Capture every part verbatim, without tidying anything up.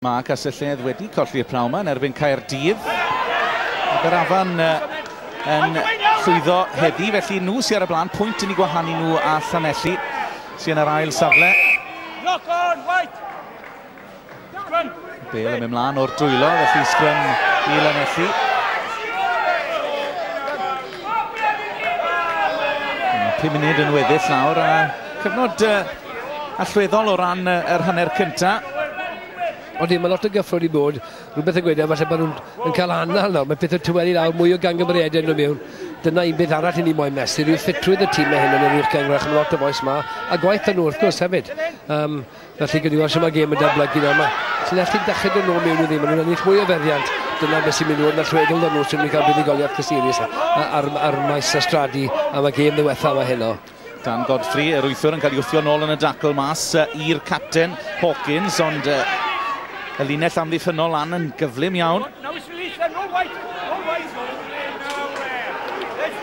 Mae Castell-nedd wedi colli'r prawn yma yn erbyn Caerdydd. Aberafan yn llwyddo heddi, felly nhw sydd ar y blaen, pwynt yn ei gwahanu nhw a Llanelli sydd yn yr ail safle. Bale yn mynd mlaen o'r dwylo, felly sgrym i Llanelli. Pum munud yn weddill nawr, a cyfnod allweddol o ran yr hanner cyntaf. Ond mae lot o gyffro wedi bod, rhywbeth yn gweud, falle bod nhw'n cael anal nawr, mae pethau tyweli lawr, mwy o gangymeriadau yn dod mewn. Dyna un beth arall i ni moyn mesur, yw ffitrwydd y tîmau hyn yn yr uwch gynghrair, mae lot o fois ma, a gwaith nhw wrth gwrs hefyd. Um, felly gyda weld sut mae gêm yn datblygu nawr. Mae Llanelli'n dechrau dod nôl mewn i ddim, maen nhw'n ennill mwy o feddiant. Dyna beth sy'n mynd i fod yn allweddol 'da nhw, sy'n mynd i cael buddugoliaeth cysurus ar, ar maes y Stradi am y gêm ddiwetha yma heno. Dan Godfrey, yr wythwr, yn cael ei wthio nôl yn y dacl mas i'r capten Hawkins, ond y linell amddiffynnol lan yn gyflym iawn.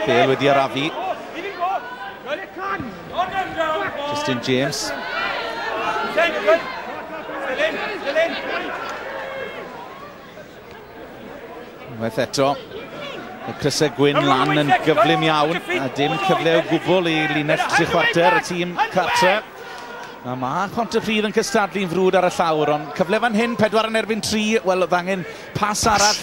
Bale wedi arafu. Justin James. Unwaith eto, y crysau gwyn lan yn gyflym iawn, a dim cyfle o gwbl i linell tri chwarter y tîm cartre. A mae Pontypridd yn cystadlu'n frwd ar y llawr, ond cyfle fan hyn, pedwar yn erbyn tri, wel, oedd angen pas arall.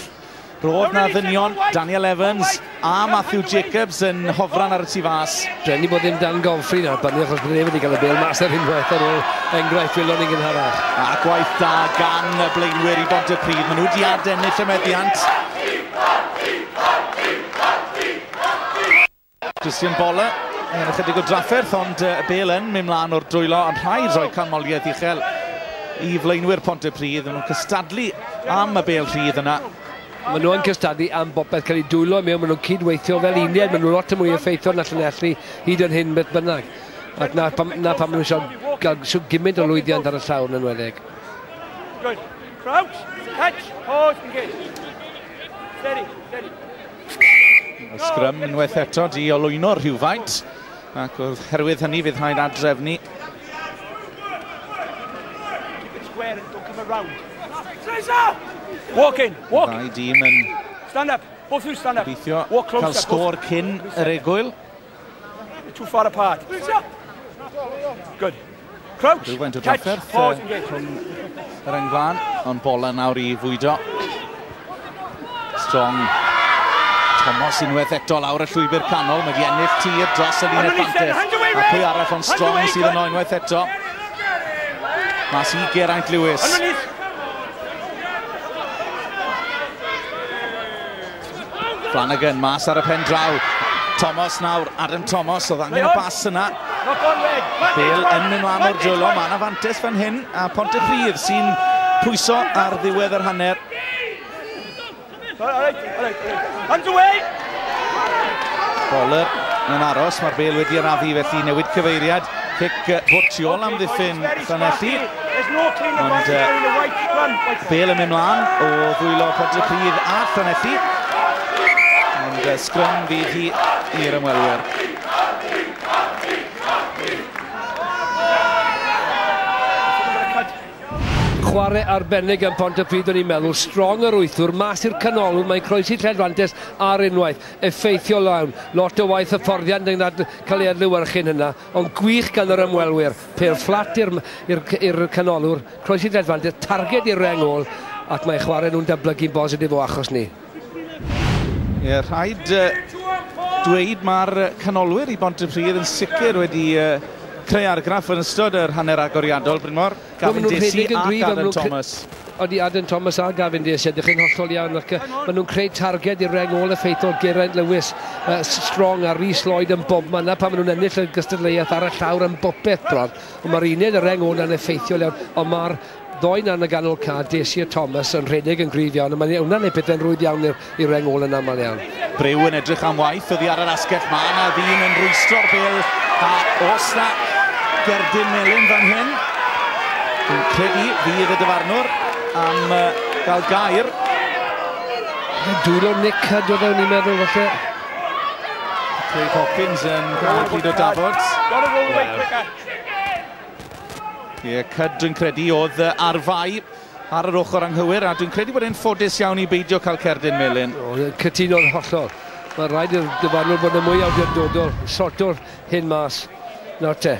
Roedd na ddynion, Daniel Evans a Matthew Jacobs yn hofran ar y tu fas. Drueni bod ddim Dan Godfrey nawr, Bunny, achos bod e wedi cael y bêl mas ar unwaith ar ôl enghraifft welon ni'n gynharach. A gwaith da gan y blaenwyr i Bontypridd, maen nhw wedi adennill y meddiant. Christian Boller yn ychydig o drafferth, ond y bêl yn mynd mlaen o'r dwylo, ond rhaid rhoi canmoliaeth uchel i flaenwyr Pontypridd. Maen nhw'n cystadlu am y bêl rhydd yna. Maen nhw yn cystadlu am bopeth, cael eu dwylo mewn, maen nhw'n cydweithio fel uned, maen nhw'n lot mwy effeithiol na Llanelli hyd yn hyn beth bynnag. Ac na pam, na pam maen nhw eisiau gael so gymaint o lwyddiant ar y llawr yn enwedig. Good. Crouch, catch, pause, engage. Steady, steady. Y sgrym unwaith eto di olwyno rhywfaint, ac oherwydd hynny fydd rhaid adrefnu. Keep it square and don't come around. Walk in, walk. Ddau dîm yn stand up, both of you stand up. Gobeithio cael sgôr cyn yr egwyl. Too far apart. Good. Crouch, rhywfaint o catch, drafferth pause, engage. Rhwng yr englan, ond bola nawr i fwydo. Strong. Thomas unwaith eto lawr y llwybr canol, mae wedi ennill tir dros y linell fantell. A pwy arall ond Strong sydd yno unwaith eto. Mas i Geraint Lewis. Flanagan mas ar y pen draw. Thomas nawr, Adam Thomas, oedd angen y bas yna. Bale yn mynd mlaen o'r dwylo, mae yna fantes fan hyn, a Pontypridd sy'n pwyso ar ddiwedd yr hanner. Boller yn aros, mae'r bêl wedi arafu, felly newid cyfeiriad. Cic fwtiol am ddiffyn Llanelli. Ond uh, bêl yn mynd mlaen o ddwylo Pontypridd a Llanelli. Ond uh, sgrym fydd hi i'r ymwelwyr. Chwarae arbennig yn Pontypridd, o'n i'n meddwl. Strong yr wythwr, mas i'r canolwr, mae'n croesi lled-fantes ar unwaith. Effeithiol iawn, lot o waith hyfforddiant yn cael ei adlewyrchu'n hynna, ond gwych gan yr ymwelwyr. Pêl fflat i'r canolwr, croesi lled-fantes, targed i'r reng ôl, ac mae chwarae nhw'n datblygu'n bositif o achos ni. Ie, rhaid uh, dweud mae'r canolwyr i Bontypridd yn sicr wedi uh, creu argraff yn ystod yr hanner agoriadol, Brynmor. Gavin Dacey a Adam Thomas. Odi, Adam Thomas a Gavin Dacey, ydych chi'n hollol iawn. Ac maen nhw'n creu targed i'r reng ôl effeithiol. Geraint Lewis, uh, Strong a Rhys Lloyd yn bobman. Na pan maen nhw'n ennill y gystadleuaeth ar y llawr yn bopeth bron. Ond mae'r uned y reng ôl yn effeithiol iawn. Ond mae'r ddoi na yn y ganol ca, Dacey a Thomas, yn rhedeg yn gryf iawn. A mae'n hwnna'n ei pethau'n rhwydd iawn i'r reng ôl yn aml iawn. Brew yn edrych am waith, oddi ar yr asgell. Mae yna ddyn yn rwystro'r bêl. A oes na gerdyn melyn fan hyn. Dwi'n credu fydd y dyfarnwr am uh, gael gair. Dwylo Nick Cudd oedd e'n i'n meddwl falle. Craig Hawkins yn cael pryd o dafod. Ie, Cudd dwi'n credu oedd ar fai. ar yr ochr anghywir, a dwi'n credu bod e'n ffodus iawn i beidio cael cerdyn melyn. O, cytuno'n hollol. Mae rhaid i'r dyfarnwr bod yn mwy awdurdodol, sorto'r hyn mas. Nawr te.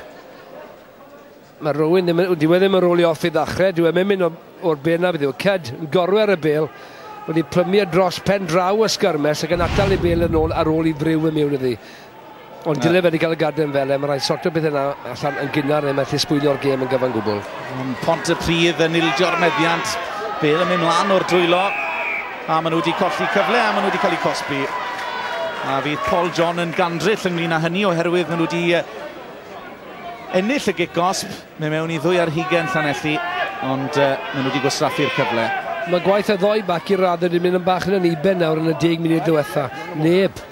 Mae rhywun ddim, dyw e ddim yn rolio off i ddechrau, dyw e'n mynd o'r bel na beth yw. Cyd yn gorwer y bel, wedi plymu dros pen draw y sgyrmes ac yn atal ei bel yn ôl ar ôl i friw y mewn iddi. Ond dyle fe wedi cael y garden fel e, mae rhaid sorto beth yna allan yn gynnar neu methu sbwylio'r gêm yn gyfan gwbl. Pontypridd yn ildio'r meddiant, bel yn mynd mlaen o'r dwylo, a maen nhw wedi colli cyfle a maen nhw wedi cael eu cosbi. A fydd Paul John yn gandryll ynglyn â hynny oherwydd maen nhw wedi ennill y gic gosb, mae mewn i ddwy ar hugain Llanelli, ond uh, maen nhw wedi gwastraffu'r cyfle. Mae gwaith y ddoi bac i'r raddau wedi mynd yn bach yn uben nawr yn y deg munud diwetha. Neb